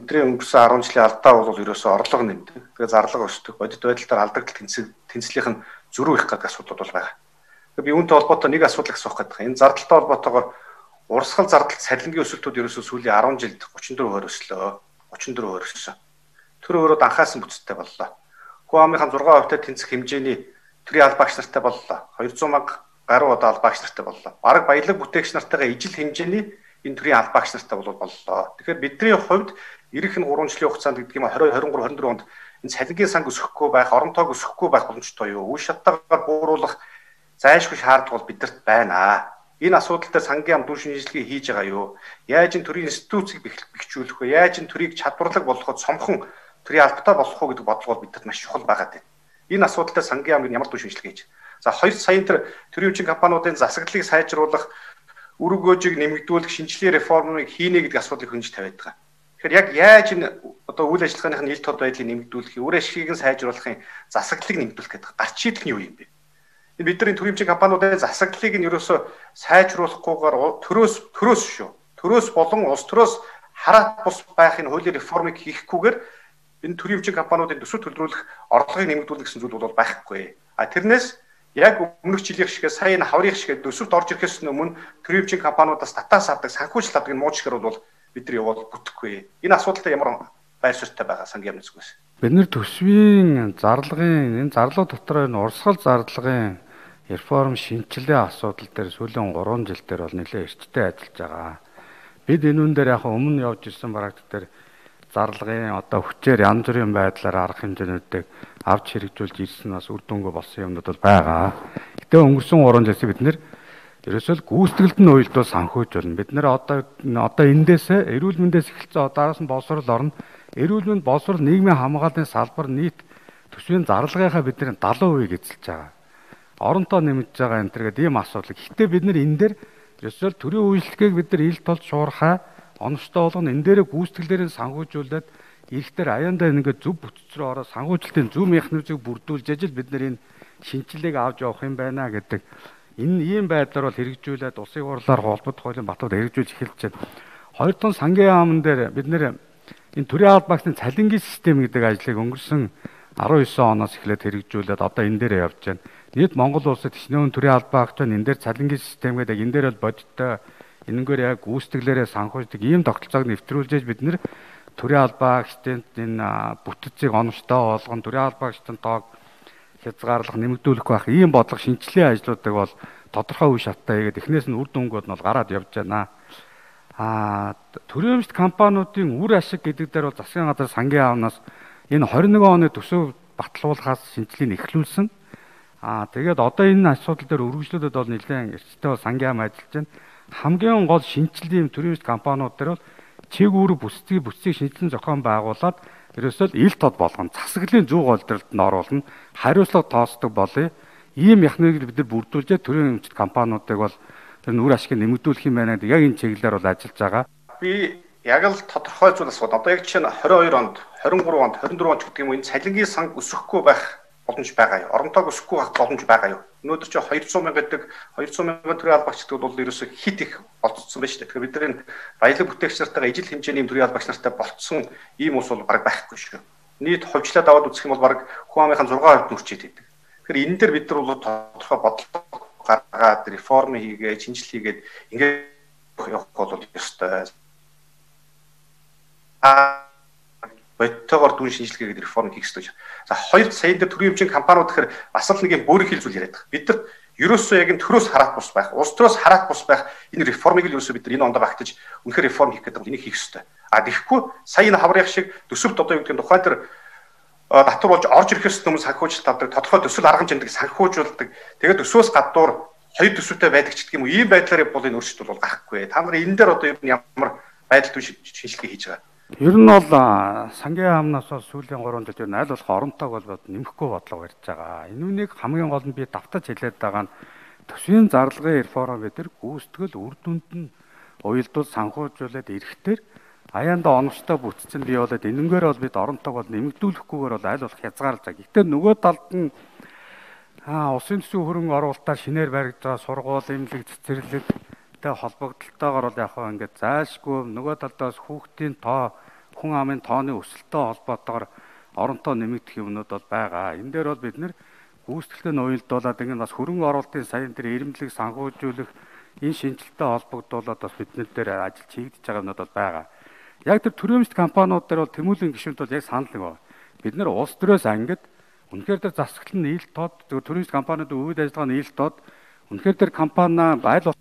бидний өнгөрсөн 10 жилийн алдаа бол ерөөсөө орлого нэмдэг. Тэгээ зарлага өсдөг. Бодит байдлаар алдагдал тэнцлийнх нь зөрүү их гэдэг асуудал бол байгаа. Тэгээ би үүнтэй холбоотой нэг асуудал асуух гэдэг. Энэ зардалтай холбоотойгоор урсгал зардал цалингийн өсөлтүүд ерөөсөө сүүлийн 10 жилд 34% өслөө. 34% өссөн. Тэр өөрөө анхаасан бүтцтэй боллоо. Хуамынхаа 6% тэнцэх хэмжээний төрийн албаагч нартай боллоо. 200 мянга гаруй одоо албаагч нартай боллоо. Бараг баялаг бүтээгч нартайгаа ижил хэмжээний энэ төрийн албаагч нартай боллоо. Тэгэхээр бидний хувьд ирэх нь 3 жилийн хугацаанд гэдэг юм 2023 24 онд энэ цалингийн санг өсөхгүй байх, орон тоог өсөхгүй байх боломжтой юу? Үе шаттайгаар бууруулах зайлшгүй шаардлага бол бидэрт байна. Энэ асуудал дээр сангийн ам дүн шинжилгээ хийж байгаа юу? Яаж энэ төрийн институцийг бэхжүүлэх вэ? Яаж энэ төрийг чадварлаг болгоход цомхон төрийн албатай болох уу гэдэг бодлого бол бидэрт маш чухал байгаа дээ. Энэ асуудал дээр сангийн ам ямар дүн шинжилгээ хийж. За 2 саяын төрийн хүчин компаниудын засаглалыг сайжруулах, үр өгөөжийг нэмэгдүүлэх, шинжилгээ реформыг хийнэ гэдэг асуудлыг хөнж тавиад байгаа. Тэгэхээр яг яаж энэ одоо үйл ажиллагааных нь ил тод байдлыг нэмэгдүүлэх, үр ашгийг нь сайжруулахын засаглалыг нэмэгдүүлэх гэдэг гарч шийдэх нь юу юм бэ? Бидний төрийн хүчин компаниудын засаглалыг нь ерөөсөө сайжруулахгүйгээр төрөөс шүү. Төрөөс болон улс төрөөс хараат бус байхын хуулийн реформыг хийхгүйгээр энэ төрийн хүчин компаниудын төсөв төлрүүлэх орлогыг нэмэгдүүлэх гэсэн зүйл бол байхгүй. Тэрнээс яг өмнөх жилийн шиг сая энэ хаврын шиг төсөвт орж ирэхээс өмнө төрийн хүчин компаниудаас татаас авдаг санхүүжилт авдаг энэ муучлахэр бол бидний яваад бүтэхгүй. Энэ асуудалтай ямар байр суурьтай байгаа сангийн амнацгүйс. Бид нэр төсвийн зарлагын энэ зарлага дотор энэ урсгал зарлагын реформ шинжилгээ асуудал дээр сүүлийн 3 жил дээр бол нэлээд эрчтэй ажиллаж байгаа. Бид энэ үн дээр яг өмнө явж ирсэн практик дээр зарлагын одоо хүчээр янз бүрийн байдлаар арга хэмжээнүүдийг авч хэрэгжүүлж ирсэн бас үр дүнгүй болсон юмнууд бол байгаа. Гэтэ өнгөрсөн 3 жилээс бид нэр ерөөсөө гүйцэтгэлд нь уйлдвал санхүүжүүлнэ. Бид нэр одоо эндээс эрүүл мэндээс эхэлсэн одоос нь боловсрол орно. Эрүүл мэнд боловсрол нийгмийн хамгааллын салбар нийт төсвийн зарлагынхаа бидний 70% эзэлж байгаа. Оронтой нэмэгдэж байгаа энэ төргээд ийм асуудал. Гэхдээ бид нэр энэ дээр ерөөсөө төрийн үйлчлэгийг бид нар ил толд шуурхай оновчтой болгоно. Энэ дээрээ гүйцэтгэлээр санхүүжүүлээд эрэхтэр аяандаа ингээд зөв бүтц рүү ороод санхүүжилтийн зөв механизмыг бүрдүүлж ажил бид нар энэ шинжилгээг авч явах юм байна гэдэг. Энэ ийм байдлаар бол хэрэгжүүлээд улсын хурлаар холбогдох хуулийн батууд хэрэгжүүлж эхэлж байна. Хоёр дахь сангийн яамн дээр бид нэр энэ төрийн албаагчдын цалингийн систем гэдэг ажлыг өнгөрсөн 19 оноос эхлээд хэрэгжүүлээд одоо энэ дээр явж байна. Нийт Монгол улсад ичнээн төрийн албаагч энэ дээр цалингийн систем гэдэг энэ дээр бол бодиттой энэгээр яг гүйцэтгэлээрээ санхүүждэг ийм тогтолцоог нэвтрүүлж бид нэр төрийн албаагчдын энэ бүтцийг оновчтой болгон төрийн албаагчдын тоог хязгаарлах нэмэгдүүлэх байх ийм бодлого шинжилгээ ажлуудыг бол тодорхой үе шаттай хийгээд эхнээс нь үр дүнгууд нь бол гараад явж байна. Төрийн өмчт компаниудын үр ашиг гэдэг дээр бол засгийн газар сангийн аавнаас энэ 21 оны төсөв батлуулахаас шинжилгээг эхлүүлсэн. Тэгээд одоо энэ асуудал дээр үргэлжлүүлээд бол нэлээд эрчтэй бол сангийн аав ажиллаж байна. Хамгийн гол шинжилгээ төрийн өмчт компаниуд дээр бол чиг үүрэг бүтцийг шинжилэн зохион байгуулад ерөөсөө ил тод болгоно. Засаглалын зөв голдролд нь оруулна. Хариуцлага тооцдог болъё. Ийм механизмыг бид нар бүрдүүлж төрийн өмчт компаниудыг бол тэр үр ашгийг нэмэгдүүлэх юм байна гэдэг яг энэ чиглэлээр бол ажиллаж байгаа. Би яг л тодорхой зүйл асууд. Одоо яг чинь 22 онд, 23 онд, 24 онд гэдэг юм энэ цалингийн санг өсөхгүй байх боломж байгаа юу? Оронтойг өсөхгүй байх боломж байгаа юу? Өнөөдөр чи 200 мянга гэдэг 200 мянган төрийн албаагчдад бол ерөөсөө хит их олцсон байна шүү дээ. Тэгэхээр бид нар энэ баялаг бүтээгч нартайгаа ижил хэмжээний төрийн албаагч нартай болцсон ийм ус бол бараг байхгүй шүү. Нийт ховчлаад аваад үзэх юм бол бараг Хуамынхаа 6% нүрчээд идэг. Тэгэхээр энэ дээр бид нар бол тодорхой бодлого гаргаад реформ хийгээд, шинжилгээ хийгээд ингээд явах бол ёстой. Бодтойгоор дүн шинжилгээ гэдэг реформ хийх ёстой. За 2 саяын дээр төрийн өмчийн компаниуд гэхээр бас л нэг юм бөөрийн хил зүйл яриад байгаа. Бид нар ерөөсөө яг энэ төрөөс хараат бус байх, улс төрөөс хараат бус байх энэ реформыг л ерөөсөө бид нар энэ ондоо багтаж үнэхээр реформ хийх гэдэг энийг хийх ёстой. Тэгэхгүй сая энэ хаврын шиг төсөвт одоо юу гэдэг нь тухайн тэр татвар болж орж ирэхээс өмнө санхүүжилт авдаг, тодорхой төсөл арга хэмжээнд санхүүжүүлдэг. Тэгээд төсвөөс гадуур хоёр төсөвтэй байдаг ч гэх юм уу ийм байдлаар бол энэ өөрчлөлт бол гарахгүй. Та нар энэ дээр одоо ямар байдал төвшин шинжилгээ хийж байгаа? Ер нь бол сангийн амнаас бол сүүлийн 3 жилд ер нь аль болох оронтойг бол нэмэхгүй бодлого барьж байгаа. Энэ үнийг хамгийн гол нь би давтаж хэлээд байгаа нь төсвийн зарлагын реформ гэдэг гүйцэтгэл үр дүнд нь уялдуул санхүүжүүлээд эрэхтэр аяанда оновчтой бүтцэн бий болоод энэнгээр бол бид оронтойг бол нэмэгдүүлэхгүйгээр бол аль болох хязгаарлаж байгаа. Гэхдээ нөгөө талд нь улсын төсвийн хөрөнгө оруулалтаар шинээр баригдаж байгаа сургууль, эмнэлэг, цэцэрлэгтэй холбогдлолтойгоор бол яг хаа ингээд зайлшгүй нөгөө талдаас хүүхдийн тоо хүн амын тооны өсөлттэй холбоотойгоор оронтой нэмэгдэх юмнууд бол байгаа. Энэ дээр бол бид нэр гүйцэтгэлтэй нь уялдуулаад ингэ бас хөрөнгө оруулалтын саяын тэр ирэмблэг санхүүжүүлэх энэ шинжилттэй холбогдуулаад бас биднэр дээр ажил хийгдэж байгаа юмнууд бол байгаа. Яг тэр төрөөмжт компаниуд дээр бол тэмүүлэн гишүүнт бол яг санал нэг байна. Бид нэр улс төрөөс ангид үнэхээр тэр засаглал нь ил тод төрөөмжт компаниудын үйл ажиллагаа нь ил тод үнэхээр тэр компани аль